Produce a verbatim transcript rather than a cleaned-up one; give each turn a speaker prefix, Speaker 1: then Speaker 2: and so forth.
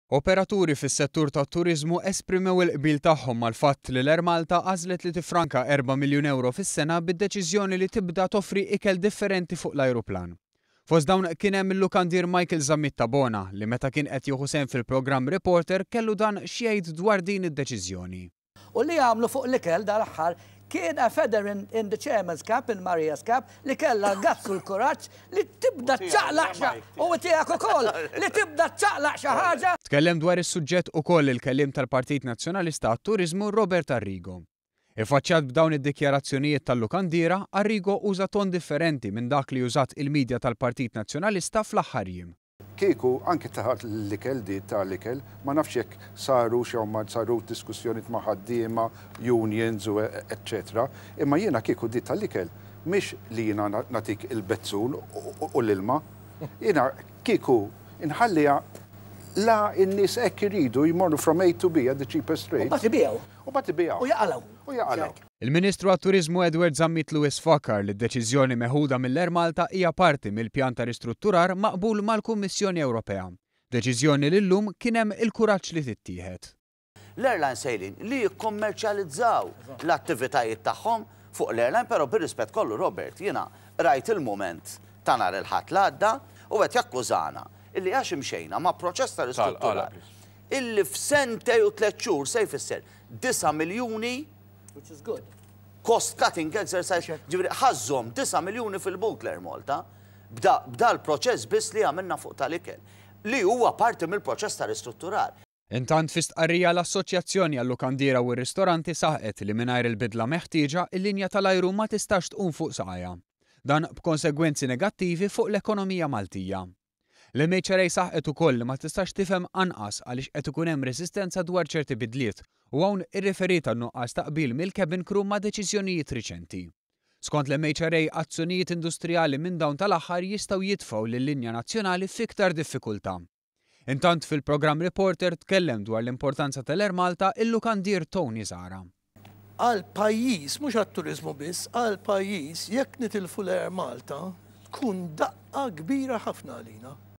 Speaker 1: Operaturi fis-settur tat-turiżmu esprimew il-qbil tagħhom mal-fatt li l-Air Malta għażlet li tifranka erba' miljun euro fis-sena bid-deċiżjoni li tibda toffri ikel differenti fuq l-ajruplan. Fost dawn kien hemm il-lukandier Michael Zammit Tabona, li meta kien qed jieħu sehem fil-programm Reporter kellu dan x'jgħid dwar din id-deċiżjoni.
Speaker 2: U li għamlu fuq l-ikel dal-aħħar kien a feather in, in the chairman's cap, in Maria's cap, li kella gazzu l-kuraġġ li tibda ċaqlaq u tiegħek ukoll li tibda ċaqlaq xi ħaġa.
Speaker 1: Tkellem dwar is-suġġett ukoll il-kelliem tal-Partit Nazzjonalista għat-Turiżmu Robert Arrigo. Ifaċċat b'dawn id-dikjarazzjonijiet tal-lukandiera, Arrigo uża ton differenti minn dak li użat il-medja tal-Partit Nazzjonalista fl-aħħar jiem.
Speaker 3: Kieku anke taħat l-ikel di tal-ikel, ma nafx jekk saru xew ma saru diskussjonijiet ma' ħaddiema, unions u eccetera. Imma jiena kieku di tal-ikel mhix li jiena nagħtik il-bezzun u l-ilma. Jiena kieku inħalliha la n-nies hekk iridu jmorru from A to B at the cheapest rate.
Speaker 2: U mbagħad ibigħu.
Speaker 3: U mbagħad ibigħu.
Speaker 2: U jaqalgħu.
Speaker 3: U jaqalgħu.
Speaker 1: Il-Ministru għat-Turiżmu Edward Zammit Lewis fakkar li d-deċiżjoni meħuda mill-Air Malta hija parti mill-pjan ta' ristrutturar maqbul mal-Kummissjoni Ewropea. Deċiżjoni li llum kien hemm il-kuraġġ li tittieħed.
Speaker 4: L-airline sejrin li jikkommerċjalizzaw l-attivitajiet tagħhom fuq l-airline, però bir-rispett kollu, Robert, jiena rajt il-mument ta' nhar il-Ħadd l-għadda u qed jakkużana illi għax imxejna ma' proċess ta' ristrutturar illi f'sentejn u tliet xhur se jfisser disa' miljuni.
Speaker 2: Which is good.
Speaker 4: Cost cutting exercise, ġifieri ħa żżomm disa' miljuni fil-but l-Air Malta, bda l-proċess biss li għamilna fuq tal-ikel, li huwa parti mill-proċess ta' ristrutturar.
Speaker 1: Intant, fi stqarrija, l-Assoċjazzjoni għal-Lukandiera u r-Ristoranti saħqet li mingħajr il-bidla meħtieġa, il-linja tal-ajru ma tistax tqum fuq saqajha. Dan b'konsegwenzi negattivi fuq l-ekonomija Maltija. L-M H R A saħqet ukoll li ma tistax tifhem anqas għaliex qed ikun hemm resistenza dwar ċerti bidliet u hawn irriferiet għan-nuqqas ta' qbil mill-cabin crew ma' deċiżjonijiet riċenti. Skont l-M H R A, azzjonijiet industrijali minn dawn tal-aħħar jistgħu jitfgħu lil-linja nazzjonali f'iktar diffikultà. Intant, fil-programm Reporter tkellem dwar l-importanza tal-Air Malta il-lukandier Tony Zara.
Speaker 5: Għal pajjiż, mhux għat-turiżmu biss, għal pajjiż, jekk nitilfu l-Air Malta, tkun daqqa kbira ħafna għalina.